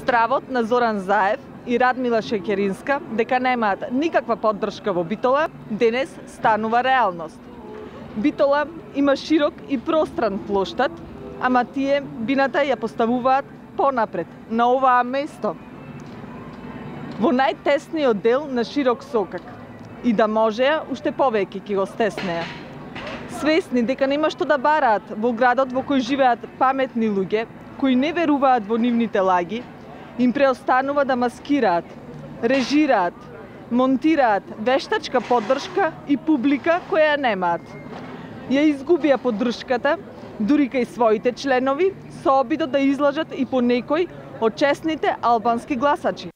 Стравот на Зоран Заев и Радмила Шекеринска дека немаат никаква поддршка во Битола, денес станува реалност. Битола има широк и простран плоштад, ама тие бината ја поставуваат понапред, на оваа место, во најтесниот дел на широк сокак. И да можеа, уште повеќе ќе го стеснеа. Свесни дека нема што да бараат во градот во кој живеат паметни луѓе, кои не веруваат во нивните лаги, им преостанува да маскираат, режираат, монтираат вештачка поддршка и публика која немаат. Ја изгубија поддршката, дури кај своите членови, со обидот да излажат и по некој од честните албански гласачи.